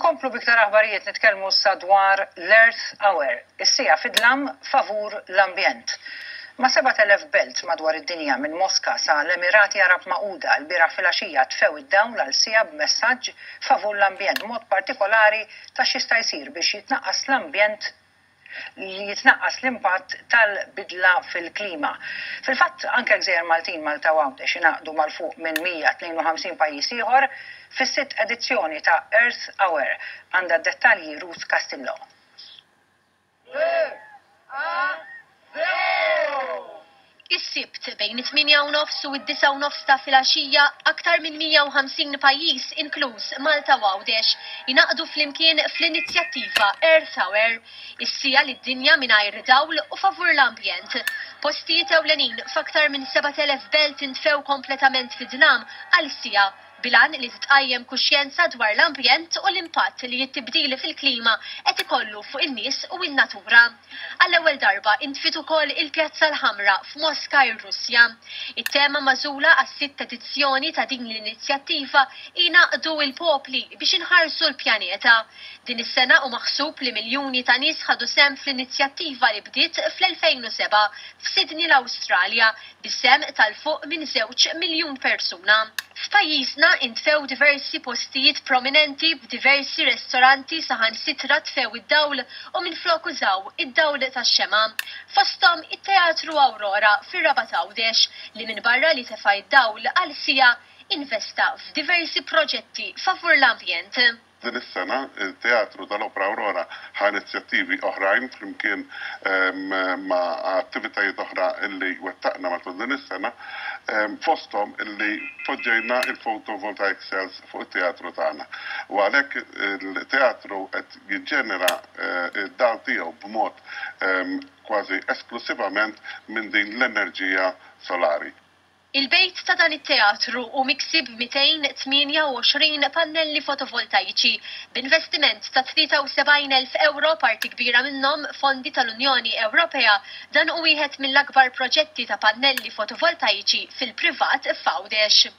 Inkomplu b'iktar aħbarijiet nitkellmu issa dwar l-Earth Hour, is-siegħa fid-dlam favur l-ambjent. Ma' 7,000 belt madwar id-dinja minn Moska sa l-Emirati Għarab Magħquda lbieraħ filgħaxija tfew id-dawl għal siegħa b'messaġġ favur l-ambjent b'mod partikolari ta' x'jista' jsir biex jitnaqqas l-ambjent li jitnaqqas l-impatt tal-bidla fil-klima. Fil-fatt, anke l-gżejjer Maltin, Malta u Għawdex ingħaqdu mal fuq minn 152 pajjiż ieħor fis-sitt edizzjoni ta' Earth Hour. Għandha d-dettalji Ruth Castillo. Is-Sibt, bejn it-tmienja u nofs u d-disgħa u nofs ta' filgħaxija, aktar minn 150 pajjiż, inkluż Malta u Għawdex, ingħaqdu flimkien fl-inizjattiva Earth Hour, is-siegħa lid-dinja mingħajr dawl u favur l-ambjent. Postijiet ewlenin f'aktar minn 7,000 belt intfew kompletament fid-dlam għal siegħa, bil-għan li titqajjem kuxjenza dwar l-ambjent u l-impatt li t-tibdil fil-klima qed ikollu fuq in-nies u n-natura. Għall-ewwel darba intfiet ukoll il-Pjazza l-Ħamra f'Moska ir-Russja. It-tema magħżula għas-sitt edizzjoni ta' din l-inizjattiva hi Ngħaqqdu l-popli biex inħarsu l-pjaneta. Din is-sena hu maħsub li miljuni ta' nies ħadu sehem fl-inizjattiva li bdiet fl-2007 f'Sydney l-Awstralja bis-sehem ta' 'l fuq minn żewġ miljun persuna. F'pajjiżna intfew diversi postijiet prominenti b'diversi restoranti saħansitra tfew id-dawl u minflok użaw id-dawl tax-xemgħa. Fosthom it-Teatru Aurora fir-Rabat Għawdex li minbarra li tefa' d-dawl għal siegħa investa f'diversi proġetti favur l-ambjent. Din is-sena, il-Teatru tal-Opra Aurora ħa inizjattivi oħrajn flimkien ma' attivitajiet oħra li wettaqna matul din is-sena, fosthom illi poġġejna il-photovoltaic cells fuq it-teatru tagħna. U għalhekk il-teatru qed jiġġenera d-dawl tiegħu b'mod kważi esklussivament minn din l-enerġija solari. Il-bejt ta' dan it-teatru hu miksi b'228 pannelli fotovoltaiċi, b'investiment ta' 73,000 ewro, parti kbira minnhom fondi tal-Unjoni Ewropea. Dan hu wieħed mill-akbar proġetti ta' pannelli fotovoltaiċi fil-privat f'Għawdex.